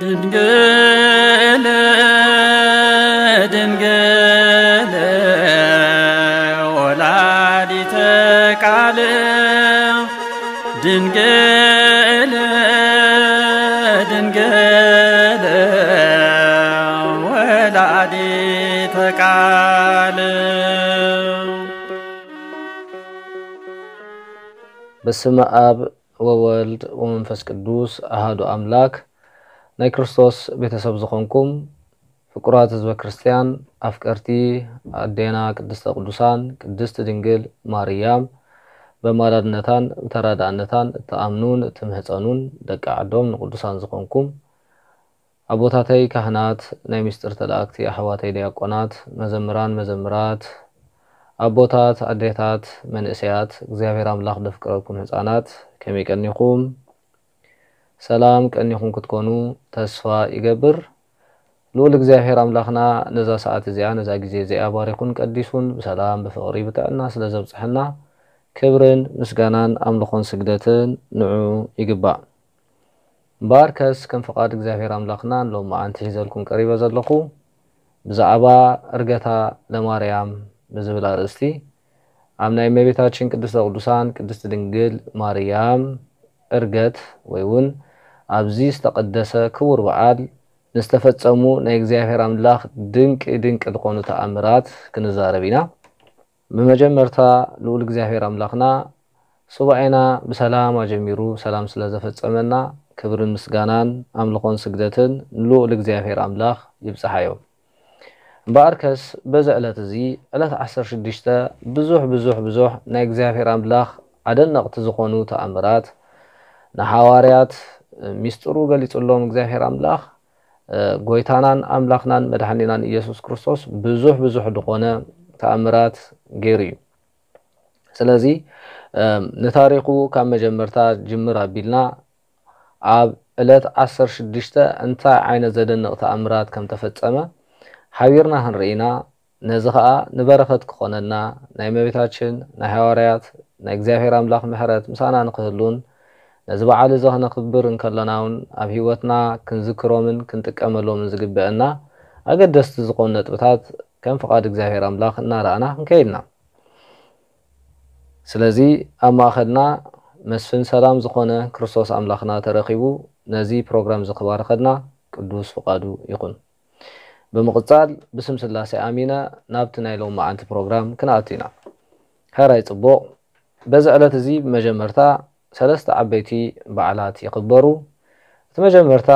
ድንግል ድንግል ወላዲተ ቃል ድንግል ድንግል ወላዲተ ቃል። በስመ አብ ወወልድ ወመንፈስ ቅዱስ አሃዱ አምላክ። ናይ ክርስቶስ ቤተሰብ ዝኾንኩም ፍቁራት ህዝበ ክርስቲያን፣ ኣፍቀርቲ ኣዴና ቅድስተ ቅዱሳን ቅድስት ድንግል ማርያም፣ በማላድነታን ብተራዳእነታን እትኣምኑን እትምህጸኑን ደቂ ዓዶም ንቅዱሳን ዝኾንኩም ኣቦታተይ ካህናት፣ ናይ ምስጢር ተላእክቲ ኣሕዋተይ ዲያቆናት፣ መዘምራን መዘምራት፣ ኣቦታት ኣዴታት መንእሰያት፣ እግዚኣብሔር ኣምላኽ ደፍቅረኩም ህፃናት፣ ከመይ ቀኒኹም? ሰላም ቀኒኹም ክትኮኑ ተስፋ ይገብር። ልኡል እግዚኣብሔር ኣምላኽና ነዛ ሰዓት እዚኣ ነዛ ግዜ እዚኣ ባሪኹን ቀዲሱን ብሰላም ብፍቕሪ ብጥዕና ስለ ዘብፅሐና ክብርን ምስጋናን ኣምልኾን ስግደትን ንዑ ይግባእ። እምበኣርከስ ከም ፍቓድ እግዚኣብሔር ኣምላኽና ንሎሚ መዓንቲ ሒዘልኩም ቀሪበ ዘለኹ ብዛዕባ እርገታ ለማርያም ብዝብል ኣርእስቲ ኣብ ናይ እመቤታችን ቅድስተ ቅዱሳን ቅድስት ድንግል ማርያም እርገት ወይ እውን ኣብዚ ዝተቐደሰ ክቡር በዓል ንዝተፈጸሙ ናይ እግዚኣብሔር ኣምላኽ ድንቂ ድንቂ ዝኾኑ ተኣምራት ክንዛረብ ኢና። ብመጀመርታ ልኡል እግዚኣብሔር ኣምላኽና ሱባኤና ብሰላም ኣጀሚሩ ሰላም ስለ ዘፈጸመና ክብርን ምስጋናን ኣምልኾን ስግደትን ንልኡል እግዚኣብሔር ኣምላኽ ይብጽሓዮ። እምበኣርከስ በዚ ዕለት እዚ ዕለት ዓሰርተ ሽዱሽተ ብዙሕ ብዙሕ ብዙሕ ናይ እግዚኣብሔር ኣምላኽ ኣደነቕቲ ዝኾኑ ተኣምራት ንሓዋርያት ሚስጥሩ ገሊጹሎም እግዚኣብሔር ኣምላኽ ጎይታናን ኣምላኽናን መድሓኒናን ኢየሱስ ክርስቶስ ብዙሕ ብዙሕ ዝኾነ ተኣምራት ገይሩ እዩ። ስለዚ ንታሪኹ ካብ መጀመርታ ጅምር ኣቢልና ኣብ ዕለት ዓሰርተ ሽዱሽተ እንታይ ዓይነት ዘደንቕ ተኣምራት ከም ተፈጸመ ሓቢርና ክንርኢ ኢና። ነዚ ኸኣ ንበረኸት ክኾነና ናይ እመቤታችን ናይ ሃዋርያት ናይ እግዚኣብሔር ኣምላኽ ምሕረት ምሳና ንክህሉን ነዚ በዓል እዚ ክነኽብር እንከለና እውን ኣብ ህይወትና ክንዝክሮምን ክንጥቀመሎምን ዝግበአና ኣገደስቲ ዝኾኑ ነጥብታት ከም ፍቓድ እግዚኣብሔር ኣምላኽ እናረኣና ክንከይድ ኢና። ስለዚ ኣብ ማእኸልና መስፍን ሰላም ዝኾነ ክርስቶስ ኣምላኽና ተረኺቡ ነዚ ፕሮግራም እዚ ክባርኸልና ቅዱስ ፍቓዱ ይኹን። ብምቕጻል ብስም ስላሴ ኣሚነ ናብቲ ናይ ሎም መዓንቲ ፕሮግራም ክንኣቱ ኢና። ሕራይ ጽቡቕ። በዚ ዕለት እዚ ብመጀመርታ ሰለስተ ዓበይቲ በዓላት ይኽበሩ። እቲ መጀመርታ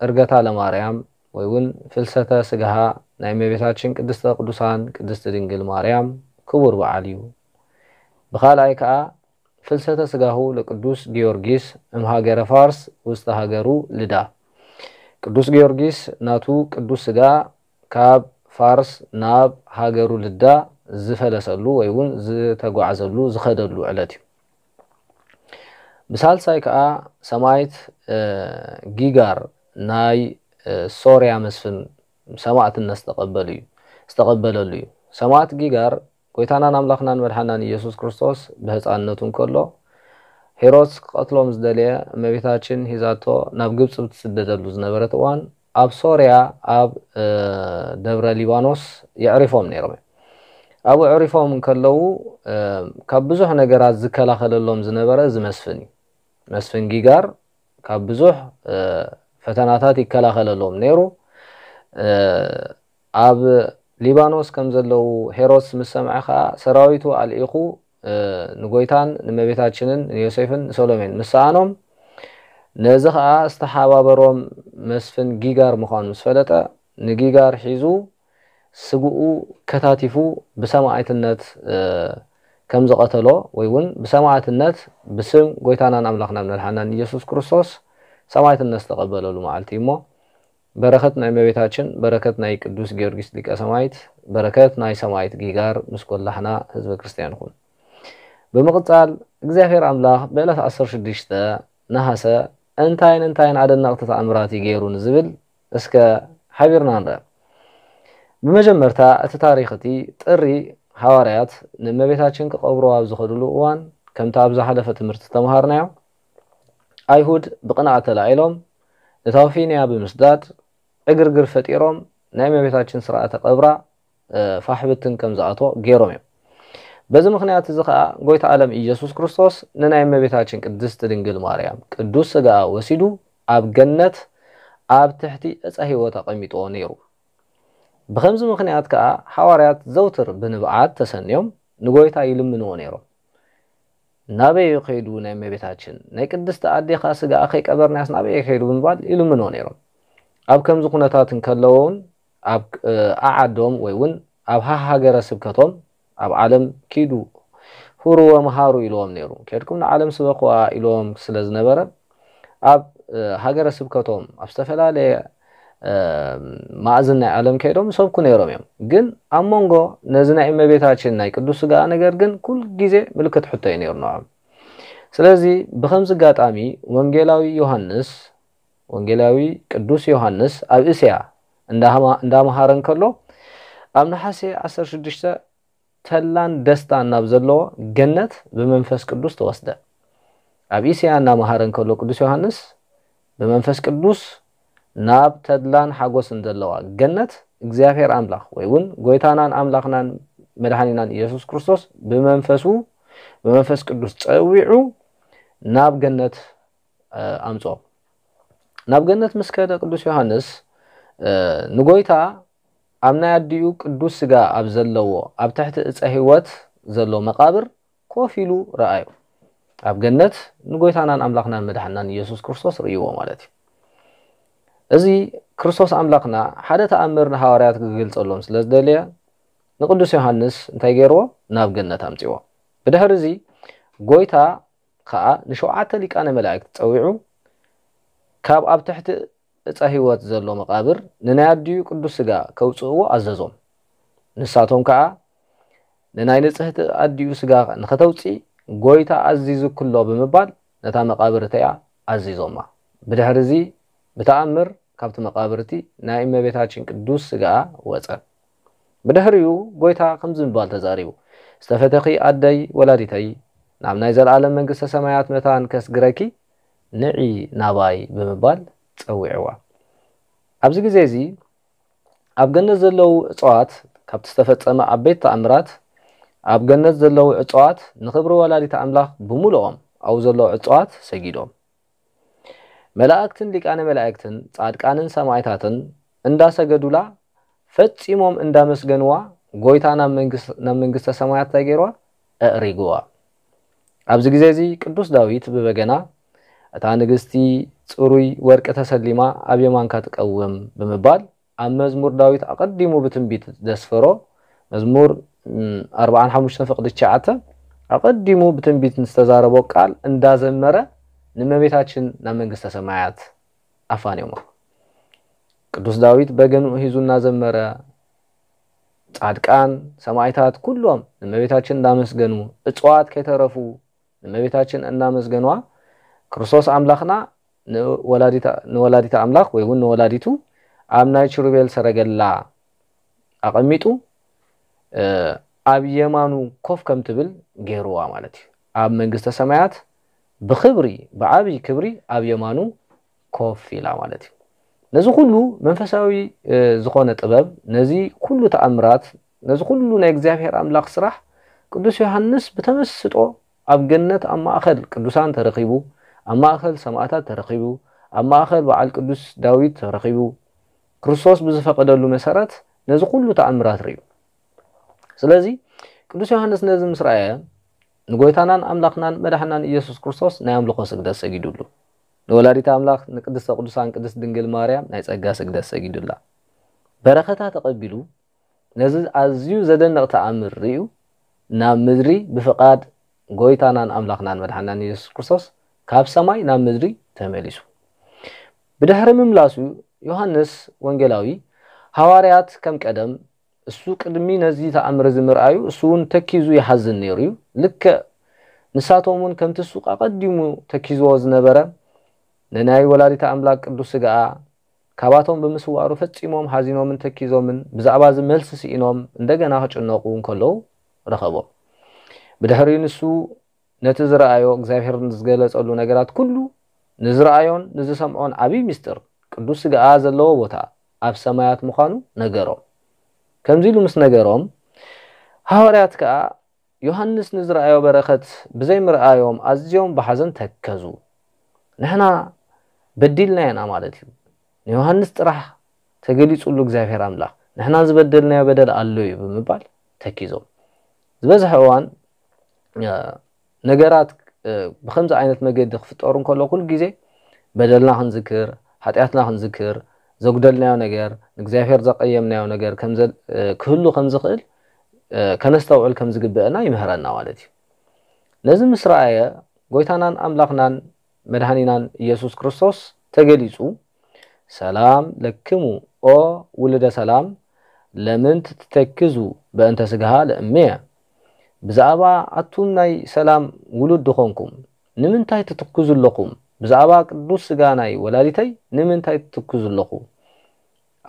እርገታ ለማርያም ወይ እውን ፍልሰተ ስጋሃ ናይ እመቤታችን ቅድስተ ቅዱሳን ቅድስት ድንግል ማርያም ክቡር በዓል እዩ። ብኻልኣይ ከኣ ፍልሰተ ስጋሁ ለቅዱስ ጊዮርጊስ እምሃገረ ፋርስ ውስተ ሃገሩ ልዳ። ቅዱስ ጊዮርጊስ ናቱ ቅዱስ ስጋ ካብ ፋርስ ናብ ሃገሩ ልዳ ዝፈለሰሉ ወይ እውን ዝተጓዓዘሉ ዝኸደሉ ዕለት እዩ። ብሳልሳይ ከዓ ሰማይት ጊጋር ናይ ሶርያ መስፍን ሰማእትነት ዝተቀበሉ እዩ ዝተቀበለሉ እዩ። ሰማእት ጊጋር ጎይታናን ኣምላኽናን መድሓናን ኢየሱስ ክርስቶስ ብህፃንነቱ እንከሎ ሄሮድስ ክቐትሎም ዝደለየ እመቤታችን ሂዛቶ ናብ ግብፂ ብትስደደሉ ዝነበረት እዋን ኣብ ሶርያ ኣብ ደብረ ሊባኖስ የዕሪፎም ነይሮም። ኣብኡ ዕሪፎም እንከለዉ ካብ ብዙሕ ነገራት ዝከላኸለሎም ዝነበረ እዚ መስፍን እዩ። መስፍን ጊጋር ካብ ብዙሕ ፈተናታት ይከላኸለሎም ነይሩ። ኣብ ሊባኖስ ከም ዘለዉ ሄሮድስ ምስ ሰምዐ ኸዓ ሰራዊቱ ኣልኢኹ ንጎይታን ንመቤታችንን ንዮሴፍን ንሰሎሜን ምስ ሰኣኖም ነዚ ኸዓ ዝተሓባበሮም መስፍን ጊጋር ምዃኑ ምስ ፈለጠ ንጊጋር ሒዙ ስግኡ ከታቲፉ ብሰማእትነት ከም ዝቐተሎ ወይ እውን ብሰማእትነት ብስም ጎይታናን ኣምላኽናን መድሓናን ኢየሱስ ክርስቶስ ሰማእትነት ዝተቐበለሉ መዓልቲ እዩ እሞ በረከት ናይ እመቤታችን በረከት ናይ ቅዱስ ጊዮርጊስ ሊቀ ሰማይት በረከት ናይ ሰማይት ጊጋር ምስ ኮላሕና ህዝበ ክርስቲያን ይኹን። ብምቕጻል እግዚኣብሔር ኣምላኽ ብዕለት ዓሰርተ ሽዱሽተ ነሃሰ እንታይን እንታይን ኣደነቕቲ ተኣምራት እዩ ገይሩ ንዝብል እስከ ሓቢርና ንረአ። ብመጀመርታ እቲ ታሪኽ እቲ ጥሪ ሃዋርያት ንእመቤታችን ክቐብሩ ኣብ ዝኸዱሉ እዋን ከምቲ ኣብ ዝሓለፈ ትምህርቲ ዝተምሃርናዮ ኣይሁድ ብቕንኣት ተላዒሎም ንታውፊንያ ብምስዳድ ዕግርግር ፈጢሮም ናይ እመቤታችን ስርዓተ ቀብራ ፋሕብትን ከም ዝኣትዎ ገይሮም እዮም። በዚ ምኽንያት እዚ ኸዓ ጎይታ ዓለም ኢየሱስ ክርስቶስ ንናይ እመቤታችን ቅድስቲ ድንግል ማርያም ቅዱስ ስጋኣ ወሲዱ ኣብ ገነት ኣብ ትሕቲ ዕፀ ህይወት ኣቐሚጥዎ ነይሩ። ብኸምዚ ምኽንያት ከኣ ሓዋርያት ዘውትር ብንብዓት ተሰንዮም ንጎይታ ይልምንዎ ነይሮም። ናበይ ከይዱ ናይ እመቤታችን ናይ ቅድስቲ ኣዴኻ ስጋኣ ከይቀበርናያስ ናበይ ከይዱ ብምባል ይልምንዎ ነይሮም። ኣብ ከምዚ ኩነታት እንከለዎ እውን ኣብ ኣዓዶም ወይ እውን ኣብ ሃሃገረ ስብከቶም ኣብ ዓለም ኪዱ ሁሩ ወመሃሩ ኢልዎም ነይሩ። ከድኩም ንዓለም ስበኽዋ ኢልዎም ስለ ዝነበረ ኣብ ሃገረ ስብከቶም ኣብ ዝተፈላለየ ማእዝን ናይ ዓለም ከይዶም ይሰብኩ ነይሮም እዮም። ግን ኣብ መንጎ ነዚ ናይ እመቤታችን ናይ ቅዱስ ስጋኣ ነገር ግን ኩል ግዜ ምልክት ሕቶ እዩ ነይሩ ንዖም። ስለዚ ብኸምዚ ኣጋጣሚ ወንጌላዊ ዮሃንስ ወንጌላዊ ቅዱስ ዮሃንስ ኣብ እስያ እንዳመሃረ እንከሎ ኣብ ነሓሴ ዓሰርተ ሽዱሽተ ተላን ደስታን ናብ ዘለዎ ገነት ብመንፈስ ቅዱስ ተወስደ። ኣብ እስያ እናመሃረ እንከሎ ቅዱስ ዮሃንስ ብመንፈስ ቅዱስ ናብ ተድላን ሓጎስን ዘለዋ ገነት እግዚኣብሔር ኣምላኽ ወይ እውን ጎይታናን ኣምላኽናን መድሓኒናን ኢየሱስ ክርስቶስ ብመንፈሱ ብመንፈስ ቅዱስ ጸዊዑ ናብ ገነት ኣምጾ። ናብ ገነት ምስ ከደ ቅዱስ ዮሃንስ ንጎይታ ኣብ ናይ ኣዲኡ ቅዱስ ስጋ ኣብ ዘለዎ ኣብ ትሕቲ እፀ ህይወት ዘሎ መቃብር ኮፍ ኢሉ ረኣዮ። ኣብ ገነት ንጎይታናን ኣምላኽናን መድሓናን ኢየሱስ ክርስቶስ ርእይዎ ማለት እዩ። እዚ ክርስቶስ ኣምላኽና ሓደ ተኣምር ንሃዋርያት ክገልጸሎም ስለ ዝደለየ ንቅዱስ ዮሃንስ እንታይ ገይርዎ? ናብ ገነት ኣምጺዎ። ብድሕሪ እዚ ጎይታ ከኣ ንሸውዓተ ሊቃነ መላእክት ጸዊዑ ካብ ኣብ ትሕቲ እፀ ህይወት ዘሎ መቃብር ንናይ ኣዲኡ ቅዱስ ስጋ ከውፅእዎ ኣዘዞም። ንሳቶም ከኣ ንናይ ንጽህቲ ኣዲኡ ስጋ ንኸተውፅእ ጎይታ ኣዚዙክሎ ብምባል ነታ መቃብር እቲኣ ኣዚዞማ። ብድሕሪ እዚ ብተኣምር ካብቲ መቃብር እቲ ናይ እመቤታችን ቅዱስ ስጋኣ ወፀ። ብድሕሪኡ ጎይታ ከምዚ ብምባል ተዛሪቡ፣ ዝተፈተኺ ኣደይ ወላዲተይ፣ ናብ ናይ ዘለኣለም መንግስተ ሰማያት መታን ከስግረኪ ንዒ ናባይ ብምባል ጸዊዕዋ። ኣብዚ ግዜ እዚ ኣብ ገነት ዘለዉ እጽዋት፣ ካብቲ ዝተፈጸመ ዓበይቲ ተኣምራት፣ ኣብ ገነት ዘለዉ እጽዋት ንኽብሪ ወላዲተ ኣምላኽ ብምሉኦም ኣብኡ ዘለዉ እጽዋት ሰጊዶም። መላእክትን ሊቃነ መላእክትን ጻድቃንን ሰማዕታትን እንዳሰገዱላ ፈጺሞም እንዳመስገንዋ ጎይታ ናብ መንግስተ ሰማያት እንታይ ገይርዋ? ኣእሪግዋ። ኣብዚ ግዜ እዚ ቅዱስ ዳዊት ብበገና እታ ንግስቲ ጽሩይ ወርቂ ተሰሊማ ኣብ የማንካ ትቀውም ብምባል ኣብ መዝሙር ዳዊት ኣቐዲሙ ብትንቢት ዘስፈሮ መዝሙር ኣርባዓን ሓሙሽተን ፍቕዲ ትሽዓተ ኣቐዲሙ ብትንቢት ዝተዛረቦ ቃል እንዳዘመረ ንመቤታችን ናብ መንግስተ ሰማያት ኣፋንዮማ። ቅዱስ ዳዊት በገንኡ ሒዙ እናዘመረ ጻድቃን ሰማዕታት ኩሎም ንመቤታችን እንዳመስገኑ እጽዋት ከይተረፉ ንመቤታችን እናመስገንዋ ክርስቶስ ኣምላኽና ንወላዲተ ኣምላኽ ወይ እውን ንወላዲቱ ኣብ ናይ ችሩቤል ሰረገላ ኣቐሚጡ ኣብ የማኑ ኮፍ ከም ትብል ገይርዋ ማለት እዩ። ኣብ መንግስተ ሰማያት ብክብሪ ብዓብይ ክብሪ ኣብ የማኑ ኮፍ ኢላ ማለት እዩ። ነዚ ኩሉ መንፈሳዊ ዝኾነ ጥበብ ነዚ ኩሉ ተኣምራት ነዚ ኩሉ ናይ እግዚኣብሔር ኣምላኽ ስራሕ ቅዱስ ዮሃንስ ብተመስጦ ኣብ ገነት ኣብ ማእኸል ቅዱሳን ተረኺቡ ኣብ ማእኸል ሰማእታት ተረኺቡ ኣብ ማእኸል በዓል ቅዱስ ዳዊት ተረኺቡ ክርስቶስ ብዝፈቐደሉ መሰረት ነዚ ኩሉ ተኣምራት ርእዩ። ስለዚ ቅዱስ ዮሃንስ ነዚ ምስ ረኣየ ንጎይታናን ኣምላኽናን መድሓናን ኢየሱስ ክርስቶስ ናይ ኣምልኾ ስግደት ሰጊዱሉ። ንወላዲት ኣምላኽ ንቅድስተ ቅዱሳን ቅድስት ድንግል ማርያም ናይ ጸጋ ስግደት ሰጊዱላ። በረኸታ ተቐቢሉ ነዚ ኣዝዩ ዘደንቕ ተኣምር ርእዩ ናብ ምድሪ ብፍቓድ ጎይታናን ኣምላኽናን መድሓናን ኢየሱስ ክርስቶስ ካብ ሰማይ ናብ ምድሪ ተመሊሱ። ብድሕሪ ምምላሱ ዮሃንስ ወንጌላዊ ሃዋርያት ከም ቀደም እሱ ቅድሚ ነዚ ተኣምር እዚ ምርኣዩ እሱ እውን ተኪዙ ይሓዝን ነይሩ እዩ። ልክዕ ንሳቶም እውን ከምቲ እሱ ኣቐዲሙ ተኪዝዎ ዝነበረ ንናይ ወላዲተ ኣምላክ ቅዱስ ስጋኣ ካባቶም ብምስዋሩ ፈጺሞም ሓዚኖምን ተኪዞምን ብዛዕባ እዚ መልሲ ስኢኖም እንደገና ክጭነቁ እንከለዉ ረኸቦም። ብድሕሪኡ ንሱ ነቲ ዝረኣዮ እግዚኣብሔር ዝገለጸሉ ነገራት ኩሉ ንዝረኣዮን ንዝሰምዖን ዓብዪ ምስጢር ቅዱስ ስጋኣ ዘለዎ ቦታ ኣብ ሰማያት ምዃኑ ነገሮም። ከምዚ ኢሉ ምስ ነገሮም፣ ሃዋርያት ከኣ ዮሃንስ ንዝረኣዮ በረኸት ብዘይምርኣዮም ኣዝዮም ብሓዘን ተከዙ። ንሕና በዲልና ኢና ማለት እዩ። ንዮሃንስ ጥራሕ ተገሊጹሉ እግዚኣብሔር ኣምላኽ፣ ንሕና ዝበደልናዮ በደል ኣሎ እዩ ብምባል ተኪዞም። ዝበዝሐ እዋን፣ እ፣ ነገራት፣ እ፣ ብኸምዚ ዓይነት መገዲ ክፍጠሩ እንከሎ፣ ኩሉ ግዜ በደልና ክንዝክር፣ ሓጢኣትና ክንዝክር፣ ዘጉደልናዮ ነገር፣ ንእግዚኣብሔር ዘቐየምናዮ ነገር ከም ዘ-፣ እ፣ ክህሉ ከም ዝኽእል፣ እ፣ ከነስተውዕል ከም ዝግብአና ይምህረና ማለት እዩ። ነዚ ምስ ረኣየ፣ ጎይታናን ኣምላኽናን መድኃኒናን ኢየሱስ ክርስቶስ ተገሊጹ፣ "ሰላም ለክሙ ኦ ውሉደ ሰላም፣ ለምን ትተክዙ በእንተ ስጋሃ ለእምየ?" ብዛዕባ ኣቱም ናይ ሰላም ውሉድ ዝኾንኩም፣ ንምንታይ ትትክዙ ኣለኹም? ብዛዕባ ቅዱስ ስጋ ናይ ወላዲተይ ንምንታይ ትትክዙ ኣለኹ-፣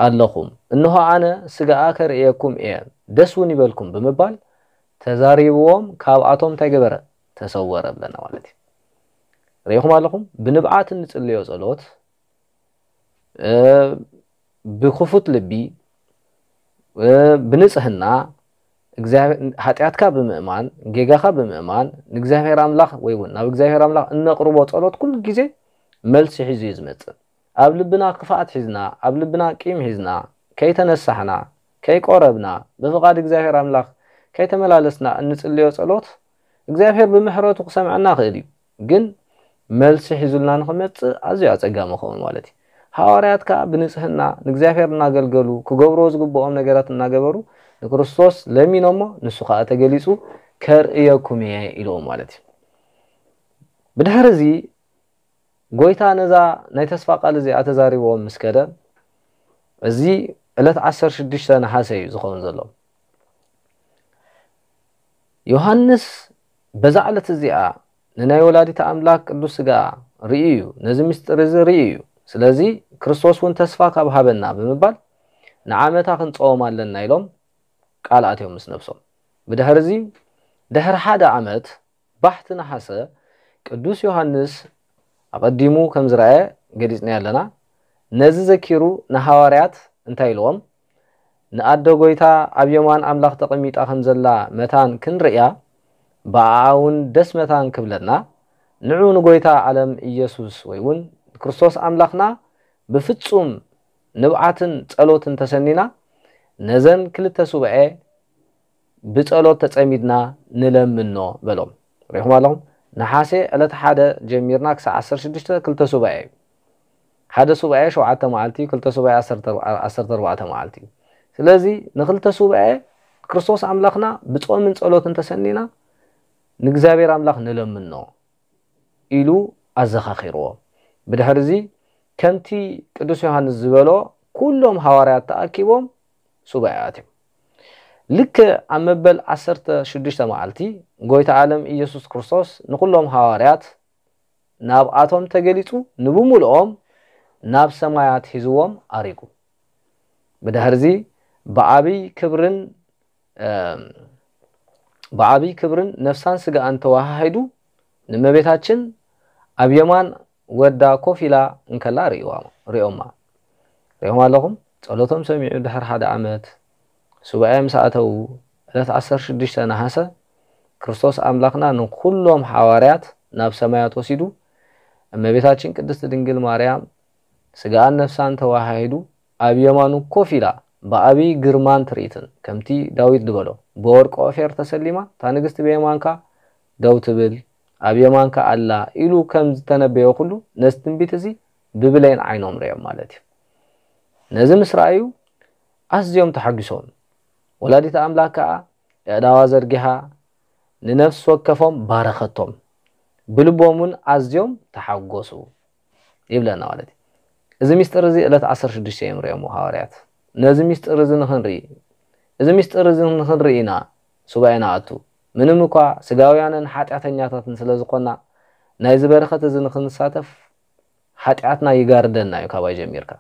ኣለኹም? እንሆ ኣነ ስጋኣ ከርእየኩም እየ፣ ደስ እውን ይበልኩም ብምባል ተዛሪብዎም፣ ካብኣቶም እንታይ ገበረ? ተሰወረ ብለና ማለት እዩ። ርኢኹም ኣለኹም? ብንብዓት እንጽልዮ ጸሎት፣ እ፣ ብክፉት ልቢ፣ እ፣ ብንጽህና፣ እግዚኣብሔር፣ ሓጢኣትካ ብምእማን፣ ጌጋኻ ብምእማን፣ ንእግዚኣብሔር ኣምላኽ ወይ እውን ናብ እግዚኣብሔር ኣምላኽ እነቕርቦ ጸሎት ኩሉ ግዜ መልሲ ሒዙ እዩ ዝመጽእ። ኣብ ልብና ክፍኣት ሒዝና፣ ኣብ ልብና ቂም ሒዝና፣ ከይተነሳሕና፣ ከይቆረብና፣ ብፍቓድ እግዚኣብሔር ኣምላኽ ከይተመላለስና እንጽልዮ ጸሎት፣ እግዚኣብሔር ብምሕረቱ ክሰምዐና ይኽእል እዩ። ግን መልሲ ሒዙልና ንኽመጽእ ኣዝዩ ኣጸጋሚ ይኸውን ማለት እዩ። ሃዋርያት ከኣ ብንጽህና ንእግዚኣብሔር እናገልገሉ፣ ክገብርዎ ዝግብኦም ነገራት እናገበሩ፣ ንክርስቶስ ለሚኖሞ፣ ንሱ ከኣ ተገሊጹ፣ "ከርእየኩም እየ" ኢልዎም ማለት እዩ። ብድሕሪ እዚ፣ ጎይታ ነዛ ናይ ተስፋ ቃል እዚኣ ተዛሪብዎም ምስ ከደ፣ እዚ ዕለት ዓሰርተ ሽዱሽተ ነሓሰ እዩ ዝኸውን ዘሎ። ዮሃንስ በዛ ዕለት እዚኣ ንናይ ወላዲተ ኣምላኽ ቅዱስ ስጋ ርእዩ እዩ፣ ነዚ ምስጢር እዚ ርእዩ እዩ። ስለዚ ክርስቶስ እውን ተስፋ ካብ ሃበና ብምባል ንዓመታ ክንጸወም ኣለና ኢሎም ቃል ኣትዮም ምስ ነብሶም። ብድሕሪ እዚ ድሕሪ ሓደ ዓመት ባሕቲ ነሓሰ ቅዱስ ዮሃንስ ኣቐዲሙ ከም ዝረኣየ ገሊጽናዮ ኣለና። ነዚ ዘኪሩ ንሃዋርያት እንታይ ኢልዎም? ንኣደ ጎይታ ኣብ የማን ኣምላኽ ተቐሚጣ ከም ዘላ መታን ክንርእያ፣ ብኣኣ እውን ደስ መታን ክብለና፣ ንዑ ንጎይታ ዓለም ኢየሱስ ወይ እውን ክርስቶስ ኣምላኽና ብፍጹም ንብዓትን ጸሎትን ተሰኒና፣ ነዘን ክልተ ሱባኤ ብጸሎት ተጸሚድና ንለምኖ በሎም። ርኢኹም ኣለኹም? ነሓሴ ዕለት ሓደ ጀሚርና ክሳዕ ዓሰርተ ሽዱሽተ ክልተ ሱባኤ እዩ። ሓደ ሱባኤ ሸውዓተ መዓልቲ፣ ክልተ ሱባኤ ዓሰርተ ኣርባዕተ መዓልቲ እዩ። ስለዚ ንክልተ ሱባኤ ክርስቶስ ኣምላኽና ብጾምን ጸሎትን ተሰኒና ንእግዚኣብሔር ኣምላኽ ንለምኖ ኢሉ ኣዘኻኺርዎ። ብድሕሪ እዚ ከምቲ ቅዱስ ዮሃንስ ዝበሎ ኩሎም ሃዋርያት ተኣኪቦም ሱባኤ ኣትዮም። ልክዕ ኣብ መበል ዓሰርተ ሽዱሽተ መዓልቲ ጎይታ ዓለም ኢየሱስ ክርስቶስ ንኹሎም ሃዋርያት ናብኣቶም ተገሊጹ፣ ንብምልኦም ናብ ሰማያት ሒዝዎም ኣሪጉ። ብድሕርዚ ብዓብይ ክብርን፣ እም፣ ብዓብይ ክብርን ነፍሳን ስጋኣን ተወሃሂዱ ንእመቤታችን ኣብ የማን ወዳ ኮፍ ኢላ እንከላ ርእይዋ-፣ ርእዮማ። ርእዮም ኣለኹም? ጸሎቶም ሰሚዑ ድሕሪ ሓደ ዓመት ሱባኤ ምስ ኣተዉ፣ ዕለት ዓሰርተ ሽዱሽተ ነሓሰ ክርስቶስ ኣምላኽና ንኹሎም ሓዋርያት ናብ ሰማያት ወሲዱ፣ እመቤታችን ቅድስት ድንግል ማርያም ስጋኣን ነፍሳን ተዋሃሂዱ ኣብ የማኑ ኮፍ ኢላ ብዓብይ ግርማን ትርኢትን፣ ከምቲ ዳዊት ዝበሎ፣ "ብወርቂ ኦፌር ተሰሊማ፣ እታ ንግስቲ ብየማንካ ደው ትብል፣ ኣብ የማንካ ኣላ" ኢሉ ከም ዝተነበዮ ኩሉ፣ ነዚ ትንቢት እዚ ብብሌን ዓይኖም ርእዮም ማለት እዩ። ነዚ ምስ ረኣዩ ኣዝዮም ተሓጒሶም። ወላዲተ ኣምላኽ ከኣ ኣእዳዋ ዘርጊሓ ንነፍሲ ወከፎም ባረኸቶም። ብልቦም እውን ኣዝዮም ተሓጎሱ ይብለና ማለት እዩ። እዚ ሚስጥር እዚ ዕለት ዓሰርተ ሽዱሽተ እዮም ርእዮሞ ሃዋርያት። ነዚ ሚስጥር እዚ ንኽንርኢ፣ እዚ ሚስጥር እዚ ንኽንርኢ ኢና ሱባኤ ንኣቱ። ምንም እኳ ስጋውያንን ሓጢኣተኛታትን ስለ ዝኾንና፣ ናይዚ በረኸት እዚ ንኽንሳተፍ ሓጢኣትና ይጋርደና እዩ ካባይ ጀሚርካ።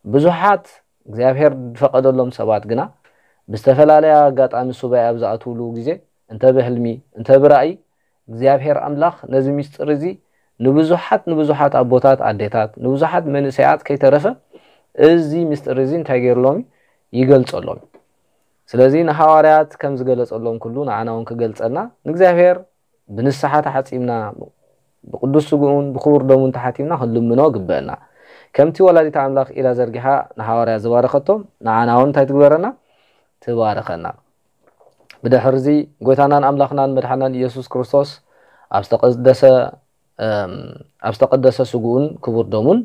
ብዙሓት እግዚኣብሔር ዝፈቐደሎም ሰባት ግና ብዝተፈላለየ ኣጋጣሚ ሱባኤ ኣብ ዝኣትውሉ ግዜ፣ እንተ ብሕልሚ፣ እንተ ብራእይ፣ እግዚኣብሔር ኣምላኽ ነዚ ምስጢር እዚ ንብዙሓት፣ ንብዙሓት ኣቦታት፣ ኣዴታት፣ ንብዙሓት መንእሰያት ከይተረፈ እዚ ምስጢር እዚ እንታይ ገይርሎም? ይገልጸሎም። ስለዚ ንሃዋርያት ከም ዝገለጸሎም ኩሉ ንዓና እውን ክገልጸልና ንእግዚኣብሔር ብንስሓ ተሓጺብና ብቅዱስ ስግኡን ብክቡር ደሙን ተሓቲምና ክንልምኖ ግበአና። ከምቲ ወላዲት ኣምላኽ ኢዳ ዘርጊሓ ንሃዋርያት ዝባረኸቶም ንዓና እውን እንታይ ትግበረና? ትባርኸና። ብድሕርዚ ጎይታናን ኣምላኽናን መድሓናን ኢየሱስ ክርስቶስ ኣብ ዝተቀደሰ እም፣ ኣብ ዝተቀደሰ ስግኡን ክቡር ደሙን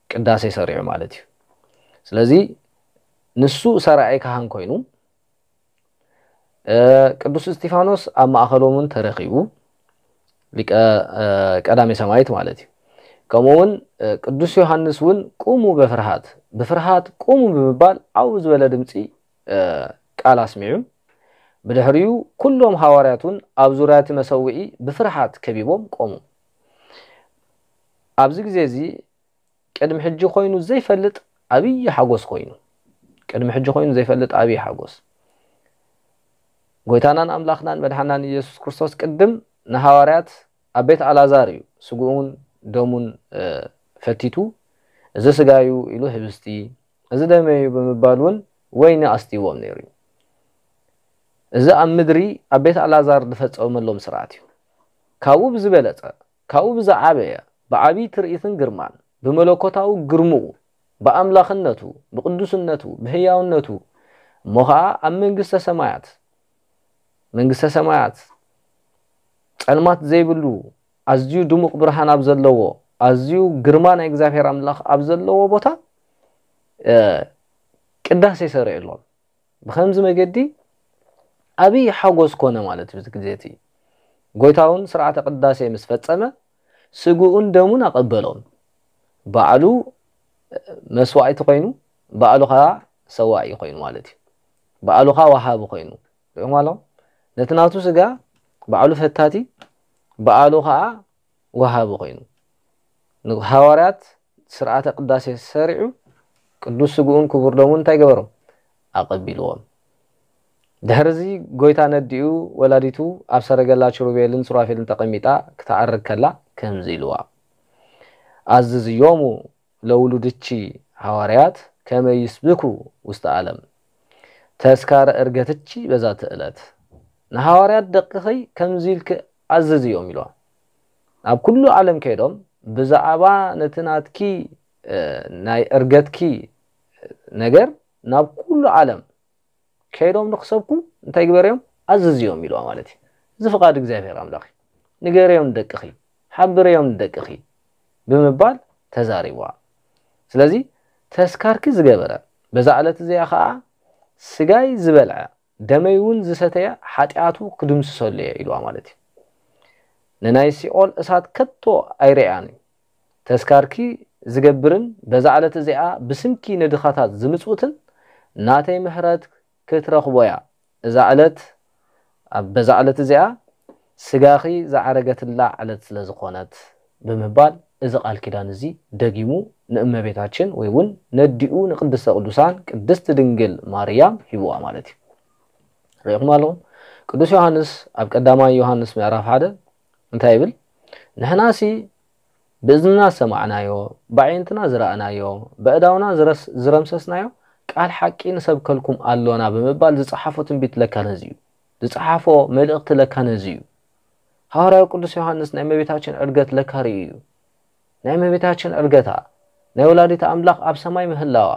ቅዳሴ ሰሪዑ ማለት እዩ። ስለዚ ንሱ ሰራዒ ካህን ኮይኑ እ፣ ቅዱስ እስጢፋኖስ ኣብ ማእኸሎምን ተረኺቡ ሊቀ እ፣ ቀዳሜ ሰማይት ማለት እዩ። ከምኡ እውን እ፣ ቅዱስ ዮሃንስ እውን ቁሙ በፍርሃት ብፍርሃት ቁሙ ብምባል ዓው ዝበለ ድምፂ እ፣ ቃል ኣስሚዑ ብድሕሪኡ ኩሎም ሃዋርያት እውን ኣብ ዙርያ እቲ መሰውዒ ብፍርሃት ከቢቦም ቆሙ። ኣብዚ ግዜ እዚ ቅድሚ ሕጂ ኮይኑ ዘይፈልጥ ዓብዪ ሓጎስ ኮይኑ ቅድሚ ሕጂ ኮይኑ ዘይፈልጥ ዓብዪ ሓጎስ ጎይታናን ኣምላኽናን መድሓናን ኢየሱስ ክርስቶስ ቅድም ንሃዋርያት ኣብ ቤት ኣላዛር እዩ ስግኡን ደሙን እ፣ ፈቲቱ እዚ ስጋዩ ኢሉ ህብስቲ እዚ ደመዩ ብምባል እውን ወይኒ ኣስትይዎም ነይሩ እዩ። እዚ ኣብ ምድሪ ኣብ ቤት ኣላዛር ዝፈጸመሎም ስርዓት እዩ። ካብኡ ብዝበለጸ ካብኡ ብዝዓበየ ብዓብዪ ትርኢትን ግርማን ብመለኮታዊ ግርምኡ ብኣምላኽነቱ ብቅዱስነቱ ብህያውነቱ እሞ ኸዓ ኣብ መንግስተ ሰማያት መንግስተ ሰማያት ጸልማት ዘይብሉ ኣዝዩ ድሙቕ ብርሃን ኣብ ዘለዎ ኣዝዩ ግርማ ናይ እግዚኣብሔር ኣምላኽ ኣብ ዘለዎ ቦታ እ፣ ቅዳሴ ሰሪዕሎም። ብኸምዚ መገዲ ዓብዪ ሓጎስ ኮነ ማለት እዩ። እዚ ግዜ እቲ ጎይታ እውን ስርዓተ ቅዳሴ ምስ ፈጸመ ስግኡን ደሙን ኣቐበሎም። ባዕሉ መስዋዕቲ ኮይኑ ባዕሉ ከዓ ሰዋኢ ኮይኑ ማለት እዩ። ባዕሉ ከዓ ወሃቢ ኮይኑ ሪኦም ኣለኹም። ነቲ ናቱ ስጋ ባዕሉ ፈታቲ ባዕሉ ከዓ ወሃቢ ኮይኑ ንሃዋርያት ስርዓተ ቅዳሴ ሰሪዑ ቅዱስ ስግኡን ክቡር ደሙን እንታይ ገበሮም? ኣቐቢልዎም። ድሕርዚ ጎይታ ነዲኡ ወላዲቱ ኣብ ሰረገላ ኪሩቤልን ሱራፌልን ተቐሚጣ ክትዓርግ ከላ ከምዚ ኢልዋ፣ ኣዝዝዮሙ ለውሉድኪ ሃዋርያት ከመ ይስብኩ ውስተ ዓለም ተስካረ ዕርገትኪ በዛቲ ዕለት። ንሃዋርያት ደቅኺ ከምዚ ኢልኪ ኣዝዝዮም ኢልዋ። ናብ ኩሉ ዓለም ከይዶም ብዛዕባ ነቲ ናትኪ እ፣ ናይ ዕርገትኪ ነገር ናብ ኩሉ ዓለም ከይዶም ንክሰብኩ እንታይ ግበርዮም? ኣዝዝዮም ኢልዋ ማለት እዩ። እዚ ፍቓድ እግዚኣብሔር ኣምላኽ እዩ። ንገርዮም ንደቅኺ፣ ሓብርዮም ንደቅኺ ብምባል ተዛሪብዋ። ስለዚ ተስካርኪ ዝገበረ በዛ ዕለት እዚኣ ኸዓ ስጋይ ዝበልዐ ደመይ እውን ዝሰተየ ሓጢኣቱ ክድምስሰሉ እየ ኢልዋ ማለት እዩ። ንናይ ሲኦል እሳት ከቶ ኣይርእያን እዩ። ተስካርኪ ዝገብርን በዛ ዕለት እዚኣ ብስምኪ ንድኻታት ዝምጽውትን ናተይ ምሕረት ክትረኽቦ እያ። እዛ ዕለት ኣብ በዛ ዕለት እዚኣ ስጋኺ ዝዓረገትላ ዕለት ስለ ዝኾነት ብምባል እዚ ቃል ኪዳን እዚ ደጊሙ ንእመቤታችን ወይ እውን ነዲኡ ንቅድስተ ቅዱሳን ቅድስት ድንግል ማርያም ሂብዋ ማለት እዩ። ርኢኹም ኣለኹም። ቅዱስ ዮሃንስ ኣብ ቀዳማይ ዮሃንስ ምዕራፍ ሓደ እንታይ ይብል? ንሕናሲ ብእዝንና ዝሰማዕናዮ፣ ብኣዒንትና ዝረኣናዮ፣ በእዳውና ዝረስ- ዝረምሰስናዮ ቃል ሓቂ ንሰብከልኩም ኣሎና ብምባል ዝጸሓፎ ትንቢት ለካ ነዚ እዩ። ዝጸሓፎ መልእኽቲ ለካ ነዚ እዩ። ሃዋርያዊ ቅዱስ ዮሃንስ ናይ እመቤታችን ዕርገት ለካ ርእዩ እዩ። ናይ እመቤታችን ዕርገታ፣ ናይ ወላዲት ኣምላኽ ኣብ ሰማይ ምህላዋ፣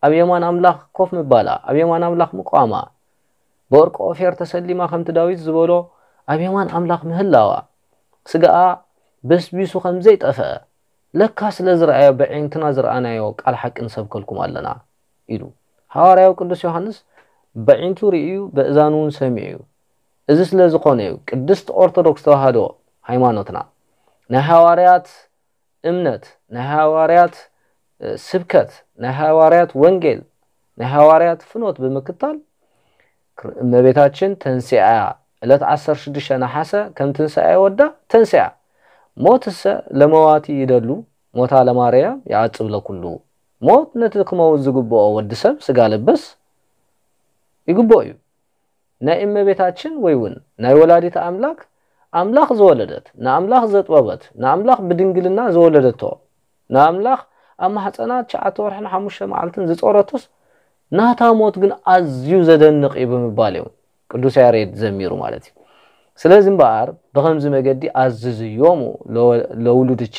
ኣብ የማን ኣምላኽ ኮፍ ምባላ፣ ኣብ የማን ኣምላኽ ምቋማ፣ ብወርቂ ኦፌር ተሰሊማ ከምቲ ዳዊት ዝበሎ ኣብ የማን ኣምላኽ ምህላዋ፣ ስጋኣ በስቢሱ ከም ዘይጠፍአ ለካ ስለ ዝረኣዮ ብዒንትና ዝረኣናዮ ቃል ሓቂ ንሰብከልኩም ኣለና ኢሉ። ሃዋርያዊ ቅዱስ ዮሃንስ በዒንቱ ርእዩ በእዛኑ እውን ሰሚዑ እዩ። እዚ ስለ ዝኾነ እዩ ቅድስት ኦርቶዶክስ ተዋህዶ ሃይማኖትና ናይ ሃዋርያት እምነት፣ ናይ ሃዋርያት ስብከት፣ ናይ ሃዋርያት ወንጌል፣ ናይ ሃዋርያት ፍኖት ብምክታል እመቤታችን ተንሲኣ እያ። ዕለት ዓሰርተ ሽዱሽተ ነሓሰ ከም ትንሳኤ ወዳ ተንሲኣ። ሞትሰ ለመዋቲ ይደሉ ሞታ ለማርያም ይዓጽብ ለኩሉ። ሞት ነቲ ክመውት ዝግብኦ ወዲ ሰብ ስጋ ለበስ ይግብኦ እዩ። ናይ እመቤታችን ወይ እውን ናይ ወላዲት ኣምላክ ኣምላኽ ዝወለደት ንኣምላኽ ዘጥበበት ንኣምላኽ ብድንግልና ዝወለደቶ ንኣምላኽ ኣብ ማሕፀና ትሽዓተ ወርሕን ሓሙሽተ መዓልትን ዝፀረቶስ ናታ ሞት ግን ኣዝዩ ዘደንቕ እዩ ብምባል እዮም ቅዱስ ያሬድ ዘሚሩ ማለት እዩ። ስለዚ እምበኣር ብኸምዚ መገዲ ኣዝዝዮሙ ለወ- ለውሉድቺ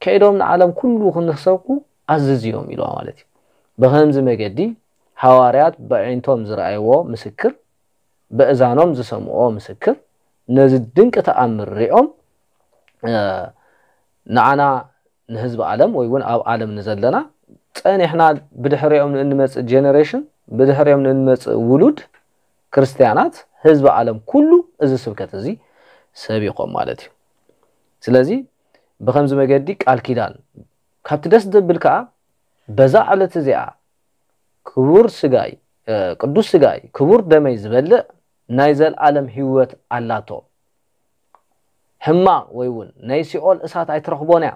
ከይዶም ንዓለም ኩሉ ክንሰብኩ ኣዝዝዮም ኢልዋ ማለት እዩ። ብኸምዚ መገዲ ሃዋርያት በዒንቶም ዝረኣይዎ ምስክር፣ በእዛኖም ዝሰምዕዎ ምስክር፣ ነዚ ድንቂ ተኣምር ሪኦም ንዓና ንህዝቢ ዓለም ወይ እውን ኣብ ዓለም ንዘለና ጸኒሕና ብድሕሪኦም ንእንመጽእ ጀነሬሽን ብድሕሪኦም ንእንመጽእ ውሉድ ክርስትያናት ህዝቢ ዓለም ኩሉ እዚ ስብከት እዚ ሰቢኾም ማለት እዩ። ስለዚ ብኸምዚ መገዲ ቃል ኪዳን ካብቲ ደስ ዘብል ከዓ በዛ ዕለት እዚኣ ክቡር ስጋይ ቅዱስ ስጋይ ክቡር ደመይ ዝበልዕ ናይ ዘለዓለም ህይወት ኣላቶ። ሕማቕ ወይ እውን ናይ ሲኦል እሳት ኣይትረኽቦን እያ።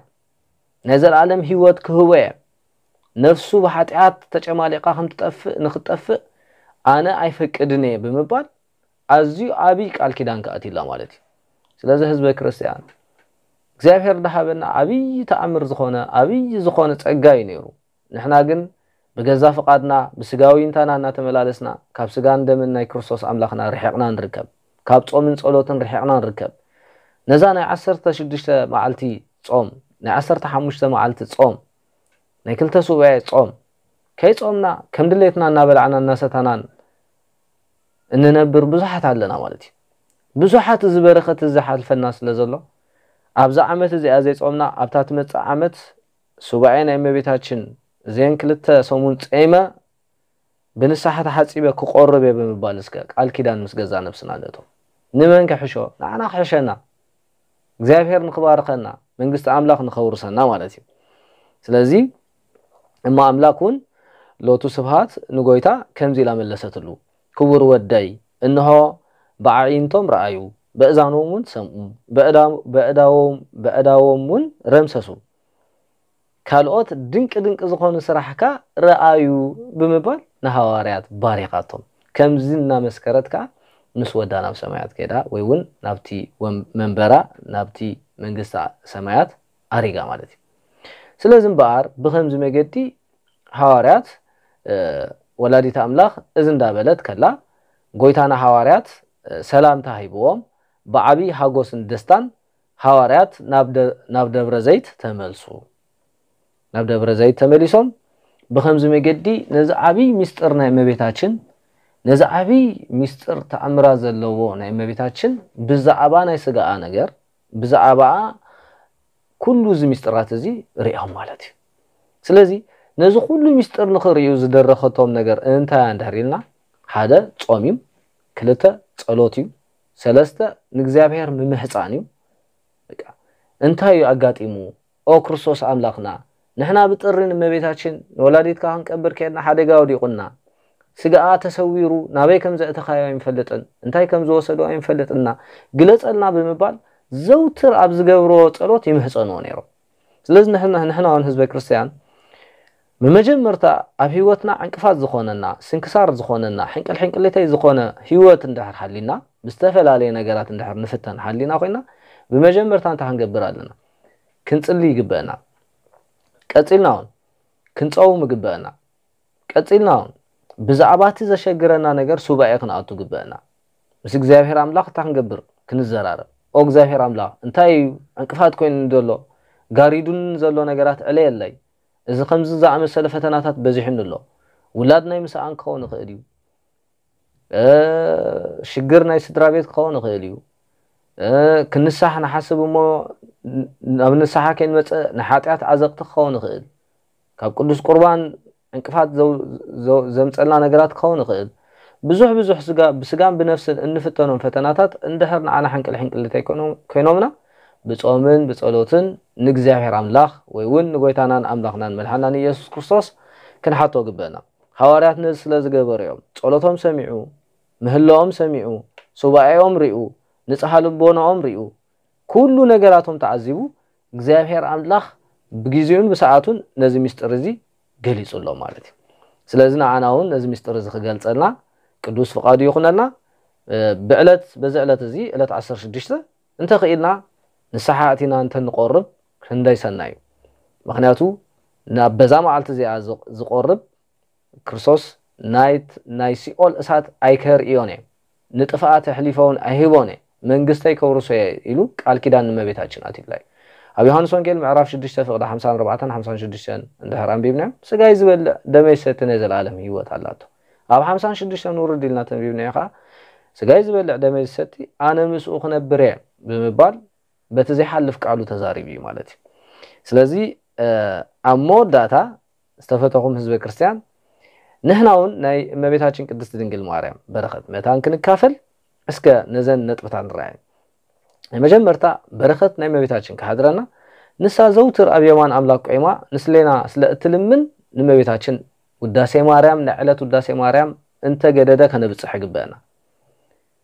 ናይ ዘለዓለም ህይወት ክህቦ እየ። ነፍሱ ብሓጢኣት ተጨማሊቓ ከም ትጠፍእ ንክትጠፍእ ኣነ ኣይፈቅድን እየ ብምባል ኣዝዩ ዓብዪ ቃል ኪዳን ከኣትዩላ ማለት እዩ። ስለዚ ህዝበ ክርስትያን እግዚኣብሔር ዝሃበና ዓብዪ ተኣምር ዝኾነ ዓብዪ ዝኾነ ጸጋ እዩ ነይሩ። ንሕና ግን ብገዛ ፍቓድና ብስጋዊ እንታና እናተመላለስና ካብ ስጋን ደምን ናይ ክርስቶስ ኣምላኽና ርሒቕና ንርከብ። ካብ ጾምን ጸሎትን ርሒቕና ንርከብ። ነዛ ናይ ዓሰርተ ሽዱሽተ መዓልቲ ጾም ናይ ዓሰርተ ሓሙሽተ መዓልቲ ጾም ናይ ክልተ ሱባኤ ጾም ከይጾምና ከም ድሌትና እናበላዕና እናሰታናን እንነብር ብዙሓት ኣለና ማለት እዩ። ብዙሓት እዚ በረኸት እዚ ሓልፈና ስለ ዘሎ ኣብዛ ዓመት እዚኣ ዘይጾምና ኣብታ ትመጽእ ዓመት ሱባኤ ናይ እመቤታችን እዚአን ክልተ ሰሙን ጸይመ ብንስሓ ተሓጺበ ክቆርብ እየ ብምባል እስከ ቃል ኪዳን ምስ ገዛ ነብስና ነእቶ። ንመን ክሕሾ? ንዓና ክሕሸና እግዚኣብሔር ንክባርኸና መንግስቲ ኣምላኽ ንኸውርሰና ማለት እዩ። ስለዚ እሞ ኣምላክ እውን ሎቱ ስብሃት ንጎይታ ከምዚ ኢላ መለሰትሉ፣ ክቡር ወደይ እንሆ ብኣዒንቶም ረኣዩ ብእዛኖም እውን ሰምኡ ብእዳዎም እውን ረምሰሱ ካልኦት ድንቂ ድንቂ ዝኾኑ ስራሕካ ረኣዩ ብምባል ንሃዋርያት ባሪኻቶም። ከምዚ እናመስከረት ከዓ ምስ ወዳ ናብ ሰማያት ከይዳ ወይ እውን ናብቲ መንበራ ናብቲ መንግስቲ ሰማያት ኣሪጋ ማለት እዩ። ስለዚ እምበኣር ብኸምዚ መገዲ ሃዋርያት ወላዲት ኣምላኽ እዚ እንዳበለት ከላ ጎይታና ሃዋርያት ሰላምታ ሂብዎም ብዓብዪ ሃጎስን ደስታን ሃዋርያት ናብ ደብረ ዘይት ተመልሱ። ናብ ደብረ ዘይት ተመሊሶም ብኸምዚ መገዲ ነዚ ዓብዪ ሚስጥር ናይ እመቤታችን ነዚ ዓብዪ ሚስጥር ተኣምራት ዘለዎ ናይ እመቤታችን ብዛዕባ ናይ ስጋኣ ነገር ብዛዕባኣ ኩሉ እዚ ሚስጥራት እዚ ሪኦም ማለት እዩ። ስለዚ ነዚ ኩሉ ሚስጥር ንኽርእዩ ዝደረኸቶም ነገር እንታይ እንድሕር ኢልና ሓደ ጾም እዩ፣ ክልተ ጸሎት እዩ፣ ሰለስተ ንእግዚኣብሔር ምምሕጻን እዩ። በቃ እንታይ እዩ ኣጋጢሙ? ኦ ክርስቶስ ኣምላኽና ንሕና ብጥሪ ንእመቤታችን ንወላዲትካ ክንቀብር ከድና ሓደጋ ወዲቑና ስጋኣ ተሰዊሩ ናበይ ከም ዘእተኻዮ ኣይንፈልጥን እንታይ ከም ዝወሰዶ ኣይንፈልጥና ግለጸልና ብምባል ዘውትር ኣብ ዝገብርዎ ጸሎት ይምህጸንዎ ነይሮም። ስለዚ ንሕና ንሕና እውን ህዝበ ክርስትያን ብመጀመርታ ኣብ ህይወትና ዕንቅፋት ዝኾነና ስንክሳር ዝኾነና ሕንቅል ሕንቅሊተይ ዝኾነ ህይወት እንድሕር ሓሊና ብዝተፈላለየ ነገራት እንድሕር ንፍተን ሓሊና ኮይና ብመጀመርታ እንታይ ክንገብር ኣለና? ክንጽሊ ይግበአና። ቀጺልና እውን ክንጸውም ይግበአና። ቀጺልና እውን ብዛዕባ እቲ ዘሸግረና ነገር ሱባኤ ክንኣቱ ይግበአና። ምስ እግዚኣብሔር ኣምላኽ እንታይ ክንገብር ክንዘራረብ። ኦ እግዚኣብሔር ኣምላኽ እንታይ እዩ ዕንቅፋት ኮይኑኒ ዘሎ ጋሪዱኒ ዘሎ ነገራት ዕለየለይ። እዚ ከምዚ ዝኣመሰለ ፈተናታት በዚሑኒ ኣሎ። ውላድ ናይ ምስኣን ክኸውን ይኽእል እዩ። ሽግር ናይ ስድራ ቤት ክኸውን ይኽእል እዩ። ክንሳሕ ንሓስብ እሞ ናብ ንስሓ ከይንመፅእ ንሓጢኣት ዓዘቕቲ ክኸውን ይኽእል። ካብ ቅዱስ ቁርባን ዕንቅፋት ዘምፀልና ነገራት ክኸውን ይኽእል። ብዙሕ ብዙሕ ብስጋን ብነፍስን እንፍተኖም ፈተናታት እንድሕር ንዓና ሕንቅል ሕንቅል እንተይኮይኖምና ብፆምን ብፀሎትን ንእግዚኣብሔር ኣምላኽ ወይ እውን ንጎይታናን ኣምላኽናን መድሓናን ኢየሱስ ክርስቶስ ክንሓቶ ግበእና። ሃዋርያት ነዚ ስለ ዝገበሩ እዮም። ጸሎቶም ሰሚዑ፣ ምህላኦም ሰሚዑ፣ ሱባኤኦም ሪኡ፣ ንጽሃ ልቦናኦም ሪኡ፣ ኩሉ ነገራቶም ተዓዚቡ፣ እግዚኣብሔር ኣምላኽ ብግዜኡን ብሰዓቱን ነዚ ምስጢር እዚ ገሊጹሎም ማለት እዩ። ስለዚ ንዓና እውን ነዚ ምስጢር እዚ ክገልጸልና ቅዱስ ፍቓዱ ይኹነልና። ብዕለት በዚ ዕለት እዚ ዕለት ዓሰርተ ሽዱሽተ እንተኽኢልና ንስሓ ኣቲና እንተንቆርብ ክንደይ ሰናይ እዩ። ምኽንያቱ ናብ በዛ መዓልቲ እዚኣ ዝቕ- ዝቆርብ ክርስቶስ ናይ ናይ ሲኦል እሳት ኣይከርእዮን እየ፣ ንጥፍኣት ኣሕሊፈውን ኣይህቦን እየ፣ መንግስተይ ከውርሶ እየ ኢሉ ቃል ኪዳን ንእመቤታችን ኣትዩላ እዩ። ኣብ ዮሃንስ ወንጌል ምዕራፍ ሽዱሽተ ፍቕዲ ሓምሳን ኣርባዕተን ሓምሳን ሽዱሽተን እንድሕር ኣንቢብናዮ፣ ስጋይ ዝበልዕ ደመይ ዝሰቲ ናይ ዘለኣለም ህይወት ኣላቶ። ኣብ ሓምሳን ሽዱሽተን ውርድ ኢልና ተንቢብናዮ ከዓ፣ ስጋይ ዝበልዕ ደመይ ዝሰቲ ኣነ ምስኡ ክነብር እየ ብምባል በቲ ዘይሓልፍ ቃሉ ተዛሪቡ እዩ ማለት እዩ። ስለዚ ኣብ መወዳእታ ዝተፈተኹም ህዝበ ክርስቲያን፣ ንሕና እውን ናይ እመቤታችን ቅድስቲ ድንግል ማርያም በረኸት መታን ክንካፈል እስከ ነዘን ነጥብታት ንረኣየን። ናይ መጀመርታ በረኸት ናይ እመቤታችን ክሓድረና፣ ንሳ ዘውትር ኣብ የማን ኣምላክ ቆይማ ንስሌና ስለ እትልምን፣ ንእመቤታችን ውዳሴ ማርያም፣ ናይ ዕለት ውዳሴ ማርያም እንተገደደ ከነብፅሕ ይግበአና።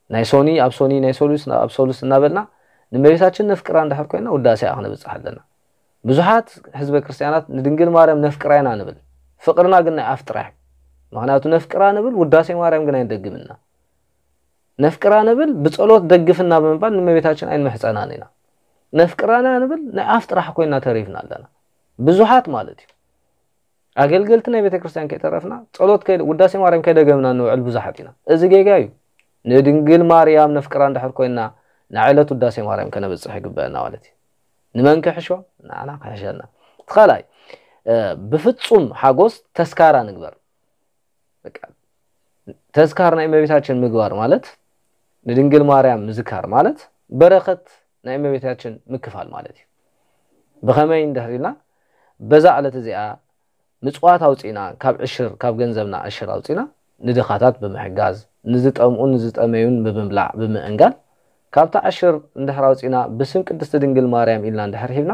ናይ ሶኒ ኣብ ሶኒ፣ ናይ ሶሉስ ኣብ ሶሉስ እናበልና ንእመቤታችን ነፍቅራ እንድሕር ኮይና ውዳሴኣ ክነብፅሕ ኣለና። ብዙሓት ህዝበ ክርስቲያናት ንድንግል ማርያም ነፍቅራ ኢና ንብል፣ ፍቅርና ግን ናይ ኣፍ ጥራሕ። ምክንያቱ ነፍቅራ ንብል፣ ውዳሴ ማርያም ግን ኣይንደግምና። ነፍቅራ ንብል፣ ብጸሎት ደግፍና ብምባል ንእመቤታችን ኣይንምሕጸናን ኢና። ነፍቅራና ንብል፣ ናይ ኣፍ ጥራሕ ኮይና ተሪፍና ኣለና። ብዙሓት ማለት እዩ። ኣገልገልቲ ናይ ቤተክርስትያን ከይተረፍና፣ ጸሎት ከይ ውዳሴ ማርያም ከይደገምና ንውዕል ብዙሓት ኢና። እዚ ጌጋ እዩ። ንድንግል ማርያም ነፍቅራ እንድሕር ኮይና፣ ንዕለት ውዳሴ ማርያም ከነብጽሕ ይግበአና ማለት እዩ። ንመን ክሕሾ? ንዓና ክሕሸና። እቲ ካልኣይ፣ ብፍጹም ሓጎስ ተስካራ ንግበር። በቃ ተስካር ናይ እመቤታችን ምግባር ማለት፣ ንድንግል ማርያም ምዝካር ማለት፣ በረኸት ናይ እመቤታችን ምክፋል ማለት እዩ። ብኸመይ እንድሕር ኢልና፣ በዛ ዕለት እዚኣ ምጽዋት ኣውጺእና፣ ካብ ዕሽር፣ ካብ ገንዘብና ዕሽር ኣውጺእና ንድኻታት ብምሕጋዝ፣ ንዝጠምኡ ንዝጠመዩን ብምብላዕ ብምእንጋል፣ ካብታ ዕሽር እንድሕር ኣውጺእና ብስም ቅድስቲ ድንግል ማርያም ኢልና እንድሕር ሂብና፣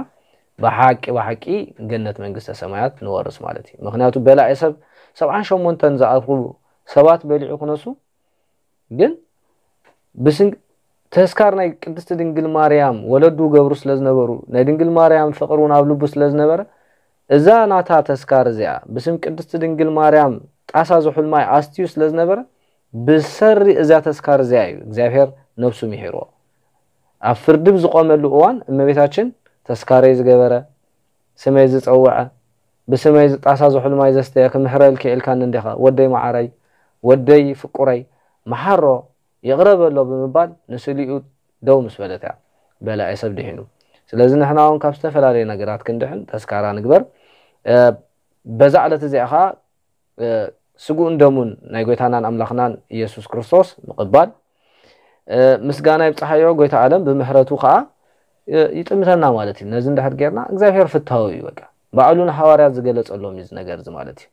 ብሓቂ ብሓቂ ገነት መንግስተ ሰማያት ንወርስ ማለት እዩ። ምክንያቱ በላዒ ሰብ ሰብዓን ሸሞንተን ዝኣኽሉ ሰባት በሊዑ ክነሱ፣ ግን ብስን ተስካር ናይ ቅድስቲ ድንግል ማርያም ወለዱ ገብሩ ስለ ዝነበሩ፣ ናይ ድንግል ማርያም ፍቕሪ እውን ኣብ ልቡ ስለ ዝነበረ፣ እዛ ናታ ተስካር እዚኣ ብስም ቅድስቲ ድንግል ማርያም ጣሳ ዝሑል ማይ ኣስትዩ ስለ ዝነበረ፣ ብሰሪ እዛ ተስካር እዚኣ እዩ እግዚኣብሔር ነብሱ ምሒርዎ። ኣብ ፍርዲ ብዝቆመሉ እዋን እመቤታችን ተስካረይ ዝገበረ፣ ስመይ ዝጸውዐ፣ ብስመይ ዝጣሳ ዝሑል ማይ ዘስተየ ክምሕረልኪ ኢልካኒ እንዲኻ፣ ወደይ መዓረይ፣ ወደይ ፍቁረይ፣ መሓሮ፣ ይቕረ በሎ ብምባል ንስሊኡ ደው ምስ በለት እያ በላዒ ሰብ ድሒኑ። ስለዚ ንሕና እውን ካብ ዝተፈላለየ ነገራት ክንድሕን ተስካራ ንግበር። እ፣ በዛ ዕለት እዚኣ ኸዓ፣ እ፣ ስግኡን ደሙን ናይ ጎይታናን ኣምላኽናን ኢየሱስ ክርስቶስ ምቕባል፣ እ፣ ምስጋና ይብጽሓዮ። ጎይታ ዓለም ብምሕረቱ ኸዓ፣ እ፣ ይጥምተና ማለት እዩ። ነዚ እንድሕር ጌርና እግዚኣብሔር ፍትሃዊ እዩ። በቃ ባዕሉ ንሃዋርያት ዝገለጸሎም እዩ እዚ ነገር እዚ ማለት እዩ።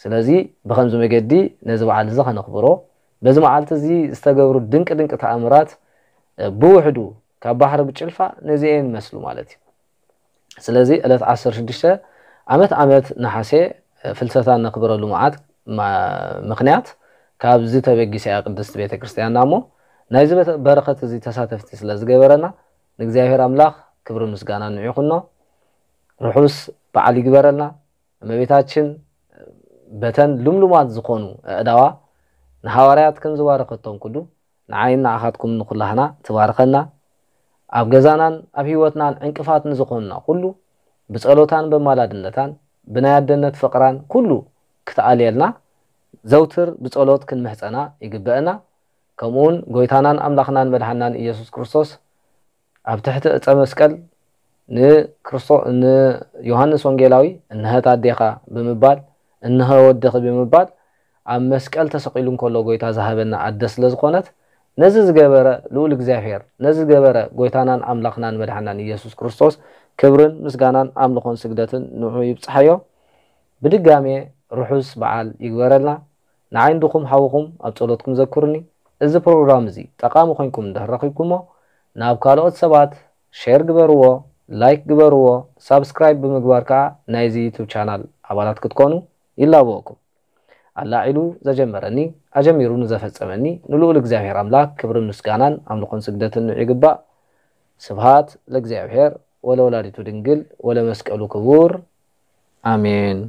ስለዚ ብኸምዚ መገዲ ነዚ በዓል እዚ ኸነኽብሮ፣ በዚ መዓልቲ እዚ ዝተገብሩ ድንቂ ድንቂ ተኣምራት፣ እ፣ ብውሕዱ ካብ ባሕሪ ብጭልፋ ነዚኤን ይመስሉ ማለት እዩ። ስለዚ ዕለት ዓሰርተ ሽዱሽተ ዓመት ዓመት ነሓሴ ፍልሰታ እነኽብረሉ መዓት ማ- ምኽንያት ካብዚ ተበጊሳ እያ ቅድስቲ ቤተ ክርስቲያንና እሞ ናይዚ በተ- በረኸት እዚ ተሳተፍቲ ስለ ዝገበረና ንእግዚኣብሔር ኣምላኽ ክብርን ምስጋናን ንዑ ይኹኖ። ርሑስ በዓል ይግበረልና። እመቤታችን በተን ልምሉማት ዝኾኑ ኣእዳዋ ንሃዋርያት ከም ዝባረኸቶም ኩሉ ንዓይን ንዓኻትኩም ንኹላህና ትባርኸና። ኣብ ገዛናን ኣብ ህይወትናን ዕንቅፋት ንዝኾኑና ኩሉ ብጸሎታን በማላድነታን ብናይ ኣደነት ፍቕራን ኩሉ ክትኣልየልና ዘውትር ብጸሎት ክንምሕጸና ይግበአና። ከምኡውን ጎይታናን ኣምላኽናን መድሓናን ኢየሱስ ክርስቶስ ኣብ ትሕቲ ዕጸ መስቀል ንክርስቶ ንዮሃንስ ወንጌላዊ እንሀት ኣዴኻ ብምባል እንሀ ወድኺ ብምባል ኣብ መስቀል ተሰቒሉ እንከሎ ጎይታ ዝሃበና ኣደ ስለ ዝኾነት ነዚ ዝገበረ ልኡል እግዚኣብሔር ነዚ ዝገበረ ጎይታናን ኣምላኽናን መድሓናን ኢየሱስ ክርስቶስ ክብርን ምስጋናን ኣምልኾን ስግደትን ንዑ ይብጽሓዮ። ብድጋሜ ርሑስ በዓል ይግበረልና። ንዓይን ድኹም ሓውኹም ኣብ ጸሎትኩም ዘክሩኒ። እዚ ፕሮግራም እዚ ጠቓሚ ኮይንኩም እንድሕር ረኺብኩሞ ናብ ካልኦት ሰባት ሼር ግበርዎ፣ ላይክ ግበርዎ፣ ሳብስክራይብ ብምግባር ከኣ ናይዚ ዩቱብ ቻናል ኣባላት ክትኮኑ ይላበወኩም። ኣላዒሉ ዘጀመረኒ ኣጀሚሩ ንዘፈጸመኒ ንልኡል እግዚኣብሔር ኣምላክ ክብርን ምስጋናን ኣምልኾን ስግደትን ንዑ ይግባእ። ስብሃት ለእግዚኣብሔር ወለወላዲቱ ድንግል ወለመስቀሉ ክቡር ኣሜን።